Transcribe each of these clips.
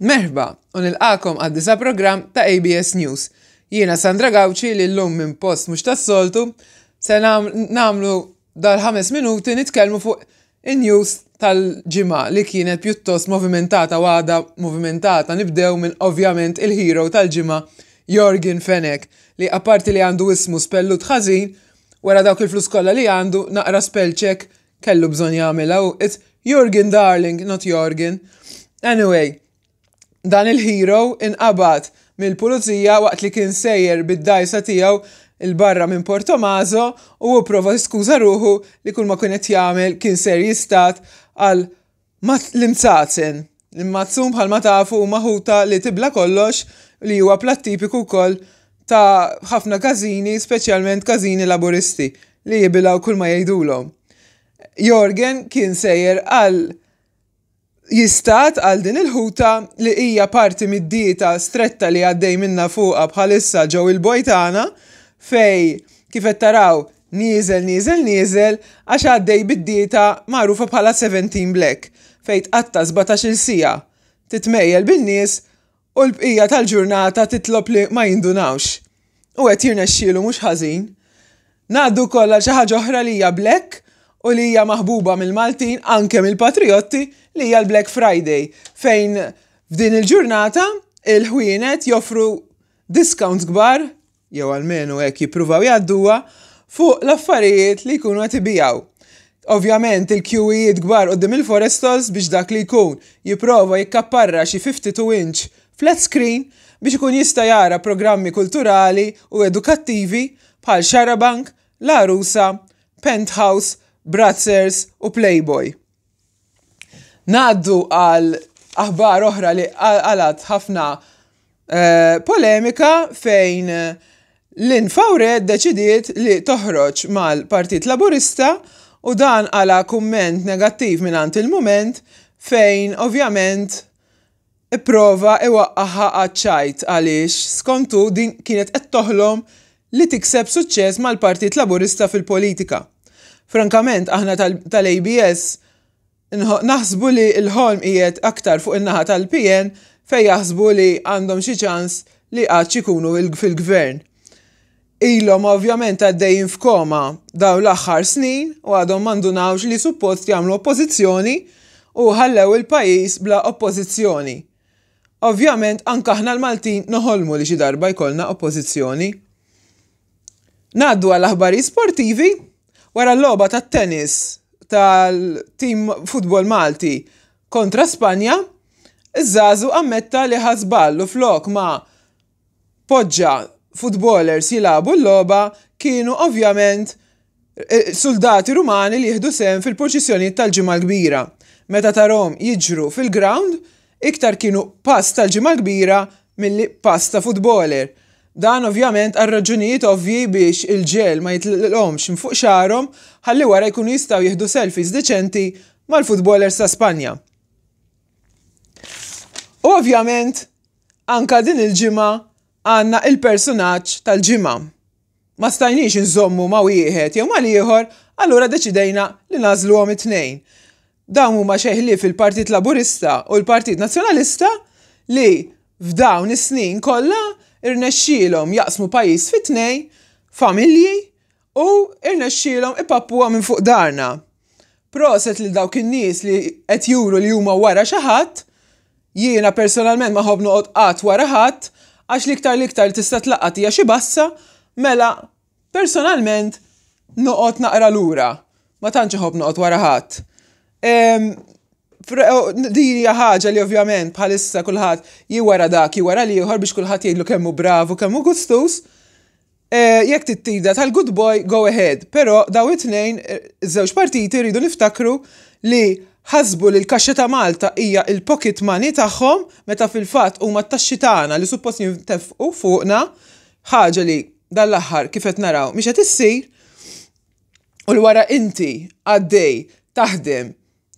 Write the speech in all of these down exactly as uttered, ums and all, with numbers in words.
Merħba u nilqagħkom għad-disa' programm ta' A B S News. Jiena Sandra Gauci li llum minn post mhux tas-soltu se nagħmlu dal-ħames minuti nitkellmu fuq in-news tal-ġimgħa li kienet pjuttost movimentata u għadha movimentata. Nibdew minn, ovvjament, il-hero tal-ġimgħa, Yorgen Fenech, li apparti li għandu ismu spellut ħażin, wara dawk il-flus kollha li għandu, naqra spell check kellu bżonn jagħmilha u it's Jurgen, darling, not Jorgen. Anyway, dan il-hero inqabad mill-pulizija waqt li kien sejjer bid-dgħajsa tiegħu 'il barra minn Portomaso u prova skuża ruħu li kull ma kien qed jagħmel kien ser jistad għal l-imzazen. L-immazzun, bħalma tafu, huma ħuta li tibla kollox, li huwa plat tipiku wkoll ta' ħafna każini, speċjalment każini Laburisti li jibilgħu kull ma jgħidulhom. Yorgen kien sejjer għal jistad għal din il-ħuta li hija parti mid-dieta stretta li għaddej minna fuqa bħalissa ġew il-bojtana, fej kif qed taraw nieżel, nieżel, nieżel, għax għaddej bid-dieta magħrufa bħala seventeen Black, fej tqatta sbatax-il siegħa titmejjel bin-nies u l-bqija tal-ġurnata titlob li ma jindunawx. U qed jirnexxielu mhux ħażin. Ngħaddu kollha xi ħaġa oħra li hija black u li hija maħbuba mill-Maltin, anke mill-patriotti, li hija l-Black Friday, fejn f'din il-ġurnata il-ħwienet joffru discounts kbar, jew almenu hekk jippruvaw jgħadduha, fuq l-affarijiet li jkunu qed ibigħu. Ovvjament il-kjuwijiet kbar quddiem il-Forestals biex dak li jkun jipprova jikkapparra xi fifty-two inch flat screen biex ikun jista' jara programmi kulturali u edukattivi bħal Xarabank, L-Għarusa, Penthouse, Brazzers u Playboy. Ngħaddu għal aħbar oħra li qalgħet ħafna eh, polemika, fejn Lynn Faure deċidiet li toħroġ mal-Partit Laburista u dan għala kumment negattiv minn Il-Mument, fejn ovvjament ipprova iwaqqaħa għaċ-ċajt għaliex skontu din kienet qed toħlom li tikseb suċċess mal-Partit Laburista fil-politika. Frankament, aħna tal-A B S naħsbu li l-ħolm qiegħed aktar fuq in-naħa tal-P N, fej jaħsbu li għandhom xi ċans li qatt ikunu fil-gvern. Ilhom ovvjament għaddejjin f'koma daw l-aħħar snin u għadhom m'indunawx li suppost jagħmlu oppożizzjoni u ħallew il-pajjiż bla oppożizzjoni. Ovvjament anke aħna l-Maltin noħolmu li xi darba jkollna oppożizzjoni. Ngħaddu għal aħbarijiet sportivi. Wara l-logħba tat-tennis tal-tim futbol Malti kontra Spanja, iż-żagħżugħ ammetta li ħa żball u flok ma poġġa footballers jilagħbu l-logħba, kienu ovvjament eh, soldati Rumani li jieħdu sehem fil-purċissjoni tal-Ġimgħa Kbira. Meta tarahom jiġru fil-ground, iktar kienu pass tal-Ġimgħa Kbira milli pass ta' footballer. Dan ovvjament għal raġunijiet ovvji, biex il-ġel ma jitlaqhomx minn fuq xagħarhom ħalli wara jkunu jistgħu jieħdu selfies deċenti mal-footballers ta' Spanja. U ovvjament anka din il-ġimgħa għandna il-personaġġ tal-ġimgħa. Ma stajniex nżommu ma' wieħed jew ma' ieħor, allura deċidejna li nagħżluhom it-tnejn. Dawn huma xejn fil-Partit Laburista u l-Partit Nazzjonalista, li f'dawn is-snin kollha irnexxielhom jaqsmu pajjiż fi tnejn, familji, u irnexxielhom ipappuha minn fuq daharna. Proset li dawk in-nies li qed juru li huma wara xi ħadd. Jiena personalment ma nħobb noqgħod qatt wara ħadd, għax l-iktar l-iktar tista' tlaqqat hija xi bassa, mela personalment noqgħod naqra lura. Ma tantx iħobb noqgħod wara ħadd. Din hija ħaġa li ovvjament bħalissa kulħadd wara dak, wara l-ieħor, biex kulħadd jgħidlu kemm hu bravu, kemm hu gustus. Eh, jekk tittida tal-good boy, go ahead. Però daw it-tnejn, eh, żewġ partiti, rridu niftakru li ħasbu li l-kaxxa ta' Malta hija il-pocket money tagħhom, meta fil-fatt huma t-taxxi tagħna li suppost jintefqu fuqna, ħaġa li dal-aħħar kif qed naraw mhix qed issir. U l wara inti għaddej taħdem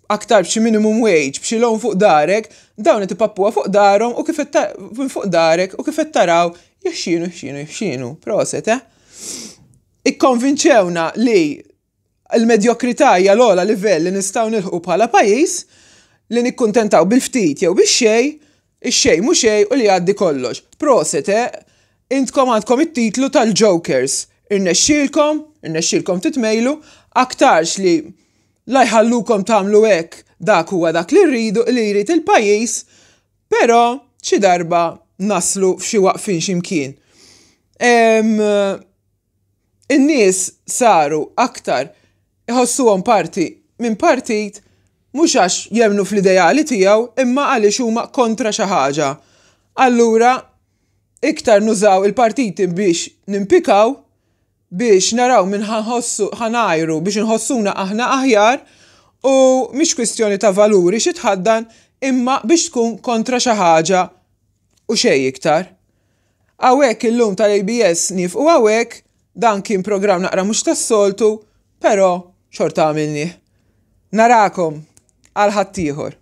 aktar b'xi minimum wage, b'xi loan fuq darek, dawn qed ipappuha fuq darhom u kif fuq darek u kif qed taraw jixxienu, jixxienu, jixxienu. Proset, eh? Ikkonvinċewna li l-medjokrità hija l-ogħla livell li nistgħu nilħqu bħala pajjiż, li nikkuntentaw bil-ftit jew bix-xejn, Ix-xejn mhu xejn u li jgħaddi kollox. Proset, eh? Intkom għandkom it-titlu tal-Jokers. Irnexxielkom, irnexxielkom titmejlu, aktarx li la jħallukom tagħmlu hekk, dak huwa dak li rridu, li jrid il-pajjiż, però xi darba naslu f'xi waqfin x'imkien. In-nies saru aktar iħossuhom parti minn partit mhux għax jemmnu fl-ideali tiegħu, imma għaliex huma kontra xi ħaġa. Allura iktar nużaw il-partiti biex nimpikaw, biex naraw minn ħa nħossu ħa ngħajru, biex nħossuna aħna aħjar, u mhix kwistjoni ta' valuri xi tħaddan, imma biex tkun kontra xi ħaġa u xejn iktar. Hawnhekk illum tal-A B S nieqfu hawnhekk. Dan kien programm naqra mhux tas-soltu, però xorta għamilnieh. Narakom għal ħaddieħor.